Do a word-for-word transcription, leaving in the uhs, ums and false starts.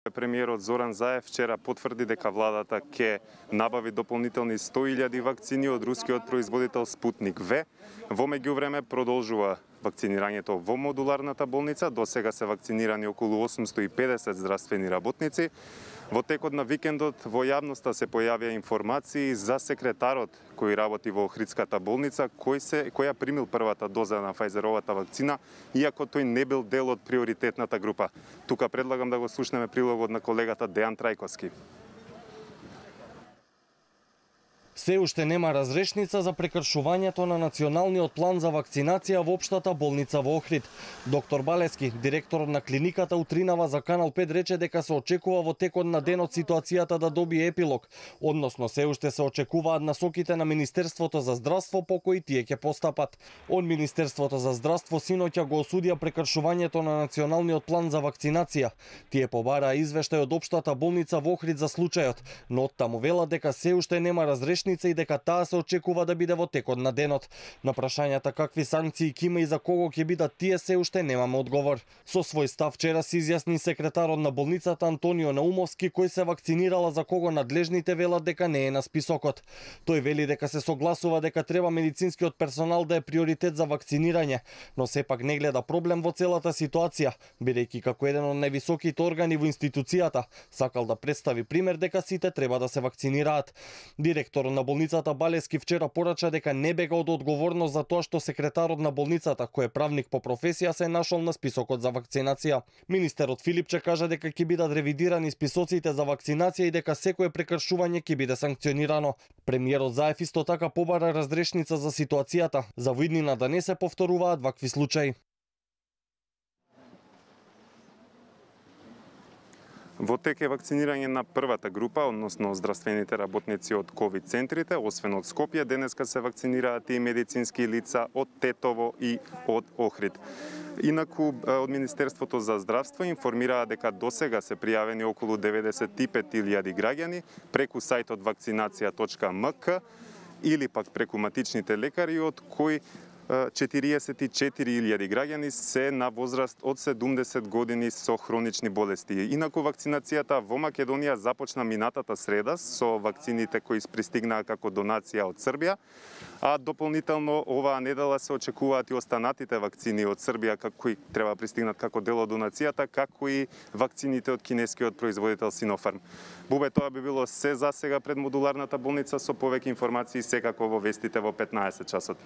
Премиерот Зоран Заев вчера потврди дека владата ќе набави дополнителни сто илјади вакцини од рускиот производител Спутник В. Во меѓувреме продолжува вакцинирањето во модуларната болница. До сега се вакцинирани околу осумсто и педесет здравствени работници. Во текот на викендот во јавноста се појавија информации за секретарот кој работи во Охридската болница, кој се која примил првата доза на Фајзеровата вакцина, иако тој не бил дел од приоритетната група. Тука предлагам да го слушнеме прилогот на колегата Дејан Трајковски. Се уште нема разрешница за прекршувањето на националниот план за вакцинација во општата болница во Охрид. Доктор Балески, директорот на клиниката, утринава за Канал пет рече дека се очекува во текот на денот ситуацијата да добие епилог, односно се уште се очекуваат насоките на Министерството за здравство по кои тие ќе постапат. Од Министерството за здравство синоќа го осудија прекршувањето на националниот план за вакцинација. Тие побараа извештај од општата болница во Охрид за случајот, но оттаму велат дека се уште нема разрешница и дека таа се очекува да биде во текот на денот. На прашањата какви санкции ќе има и за кого ќе бидат тие, се уште немаме одговор. Со свој став вчера се изјасни секретарот на болницата Антонио Наумовски, кој се вакцинирала за кого надлежните велат дека не е на списокот. Тој вели дека се согласува дека треба медицинскиот персонал да е приоритет за вакцинирање, но сепак не гледа проблем во целата ситуација, бидејќи како еден од највисоките органи во институцијата сакал да представи пример дека сите треба да се вакцинираат. Директорот на болницата Балески вчера порача дека не бега од одговорност за тоа што секретарот на болницата, кој е правник по професија, се нашол на списокот за вакцинација. Министерот Филипче кажа дека ќе бидат ревидирани списоците за вакцинација и дека секое прекршување ќе биде санкционирано. Премиерот Заев исто така побара разрешница за ситуацијата, за во иднина да не се повторуваат вакви случаи. Во тек е вакцинирање на првата група, односно здравствените работници од ковид центрите, освен од Скопје, денеска се вакцинираат и медицински лица од Тетово и од Охрид. Инаку, од Министерството за здравство информираа дека досега се пријавени околу деветдесет и пет илјади граѓани преку сајтот вакцинација точка ем ка или пак преку матичните лекари, од кои четириесет и четири илјади граѓани се на возраст од седумдесет години со хронични болести. Инаку вакцинацијата во Македонија започна минатата среда со вакцините кои пристигнаа како донација од Србија, а дополнително оваа недела се очекуваат и останатите вакцини од Србија кои треба пристигнат како дел од донацијата, како и вакцините од кинескиот производител Синофарм. Бубе, тоа би било се за сега пред модуларната болница. Со повеќе информации секако во вестите во петнаесет часот.